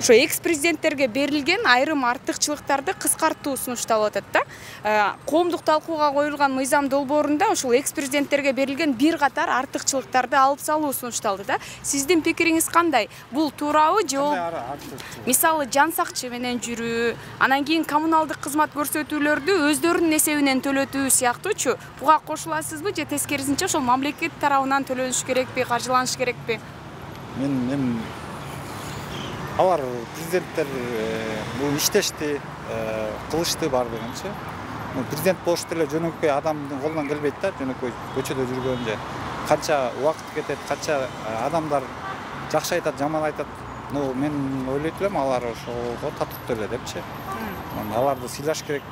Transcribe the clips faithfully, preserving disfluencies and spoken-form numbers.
ошо экс президенттерге берилген айрым артыкчылыктарды кыскартуу сунушталып атат да. Коомдук талкууга коюлган мыйзам долбоорунда ошол экс президенттерге берилген бир катар артыкчылыктарды алып салуу сунушталды да. Сиздин пикириңиз кандай? Бул туурабы же ол мисалы жан сакчы менен жүрүү, анан кийин коммуналдык кызмат көрсөтүүлөрдү өздөрүнүн эсебинен төлөтүү сыяктуучу буга кошуласызбы же тескерисинче ошол мамлекет тарабынан төлөнүш керекпи, каржыланыш керекпи? Мен мен алар президенттер бул иштешти, кылышты бардыгынчы. Президент болуш деле жөнөкөй адамдын колунан келбейт да, жөнөкөй көчөдө жүргөн же. Канча убакыт кетет, канча адамдар жакшы айтат, жаман айтат. Ну, мен ойлойт элем алар ошого татыктуу эле депчи. Аларды сыйлаш керек.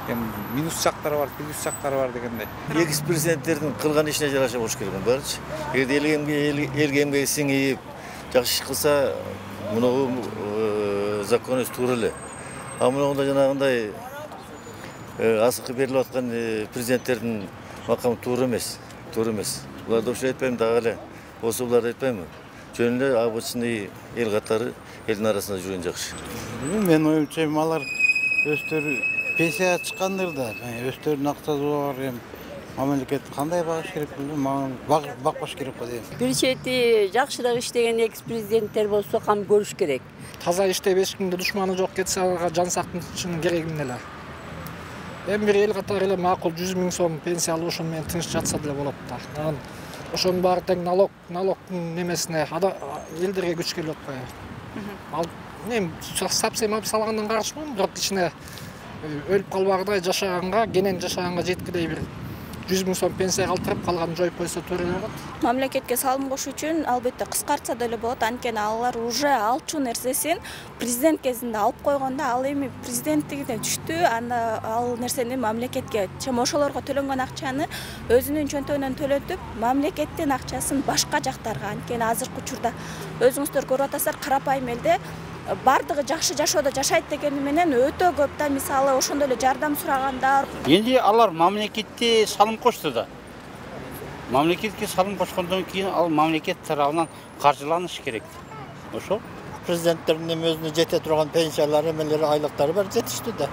Эми минус жактары бар, плюс жактары бар дегендей. Экс президенттердин кылган ишине жараша болуш керек баарычы. Эгерде элге эмгеги сиңип, жакшы иш кылса, муну законыбыз туура эле. А мунунда жанагындай асыкы берилип аткан президенттердин макамы туура эмес, туура эмес. Буларды ошо айтпайм дагы эле. Болсо буларды айтпайм. Жөн эле обычный эл катары элдин арасында жүргөн жакшы. Мен оюмча алар өздөрү пенсияга чыккандыр да, өздөрүнүн акчасы бар, эми мамлекет кандай багыш керек билбейм, бакпаш керек го дейм. Бир чети жакшыраак иштеген экс президенттер болсо кам көрүш керек. Таза иштеп эч кимде душманы жок кетсе аларга жан сактын кереги эмне эле. Эми бир эл катары эле макул жүз миң сом пенсия алып ошону менен тынч жатса деле болот да. Анан ошонун баары тең налог, налогдун немесине элдерге күч келип атпайбы. Ал эми сапсем алып салгандан каршымын, бирок ичине өлүп калбагыдай жашаганга, кенен жашаганга жеткилей бир жүз миң сом пенсия калтырып калганын жоюп койсо туура эле болот. Мамлекетке салым коюш үчүн албетте кыскартса деле болот, анткени алар уже алчу нерсесин президент кезинде алып койгондо, ал эми президенттигине түштү, анда ал нерсени мамлекетке, чым ошолорго төлөнгөн акчаны өзүнүн чөнтөгүнөн төлөтүп, мамлекеттин акчасын башка жактарга, анткени азыркы учурда өзүңүздөр көрүп атасыздар, карапайым элде бардыгы жакшы жашоодо жашайт дегени менен өтө көп да, мисалы ошондой эле жардам сурагандар. Энди алар мамлекетте салым кошту да. Мамлекетке салым кошкондон кийин ал мамлекет тарабынан каржыланыш керек. Ошо президенттердин өзүнө жете турган пенсиялары, эмелери, айлыктары бар жетиштүү да.